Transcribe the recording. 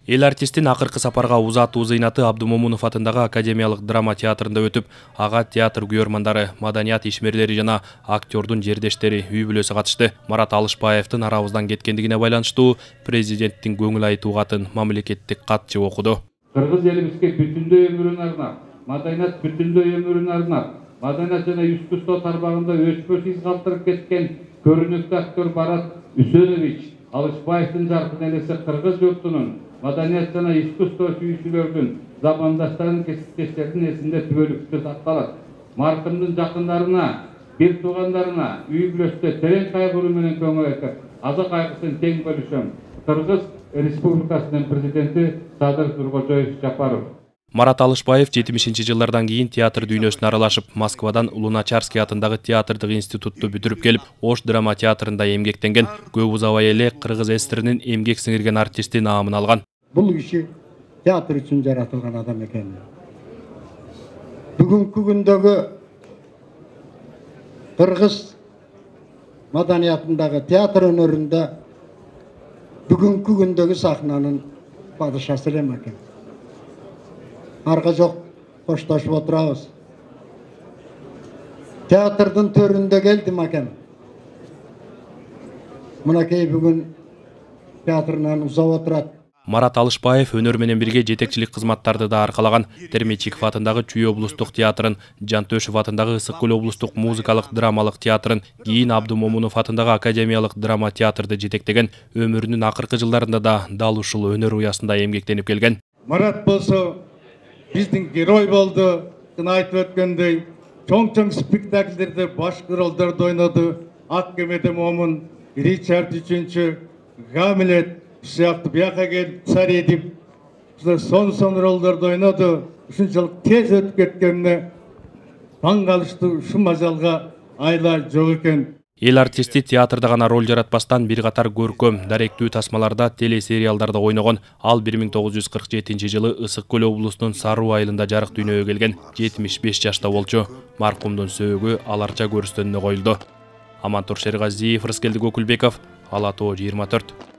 Эл артистин акыркы сапарга узатуу зыйнаты Абдумомунов атындагы Академиялык драма театрында өтүп, ага театр күйөрмандары, маданият ишмерлери жана актердун жердештери, үй бүлөсү катышты. Марат Алышбаевдин арабыздан кеткендигине байланыштуу президенттин көңүл айтуу катын мамлекеттик катчы окуду. Кыргыз элибизге бүтүндөй өмүрүн арнап, маданият бүтүндөй өмүрүн арнап, маданият жана искусство тармагында өчпөс из калтырып кеткен көрүнүктүү актер Марат Үсенович Алышбаевдин жаркын элеси кыргыз журтунун маданият жана искусство сүйүүчүлөрдүн, замандаштарын, кесиптештердин эсинде түбөлүктүү сакталат. Маркумдун жакындарына, бир туугандарына үй бүлөсүндө терең кайгыруу менен көңүл айтып, аза кайгысын тең бөлүшөм. Кыргыз Республикасынын президенти Садыр Тургожоев Жапаров. Марат Алышбаев 70-жылдардан кийин театр дүйнөсүнө аралашып, Москвадан Луначарский атындагы театрдык институтту бүтүрүп келип, Ош драма театрында эмгектенген. Көп узабай эле кыргыз эстринин эмгек сиңирген артисти наамын алган. Бул киши театр үчүн жаратылган адам экен. Бүгүнкү күндөгү кыргыз маданиятындагы театр өнөрүндө бүгүнкү күндөгү сахнанын падышасы эле экен. Арга жок коштошуп отурабыз. Театрдын төрүндө келдим экен. Мынакей бүгүн театрынан узап отурат. Марат Алышбаев өнөр менен бирге жетекчилик кызматтарды да аркалаган. Термечиков атындагы Чүй облустук театрын, Жантөшев атындагы Ысык көл облустук музыкалык драмалык театрын, кийин Абдумомунов атындагы Академиялык драма театрды жетектеген. Өмүрүнүн акыркы жылдарында да дал ушул өнөр уясында эмгектенип келген. Марат болсо биздин герой болду, айтып өткөндөй, чоң спектакльдерде баш ролдорду ойноду. Ак кемеде Момун, Ричард III, Гамлет сыяктуу бияка келип царь Эдип сон ролдорду ойноду. Ушунчалык тез өтүп кеткенине таң калыштуу, ушул мажалга айла жок экен. Эл артисти театрда гана роль жаратпастан бир катар көркөм, даректүү тасмаларда, телесериалдарда ойногон. Ал 1947-жылы Ысык көл облусунун Саруу айылында жарык дүйнөгө келген. 75 жашта болчу. Маркумдун сөөгү аларча көрүстөнүнө коюлду. Амантур Шергазиев, Рыскелди Көкүлбеков, Ала Тоо 24.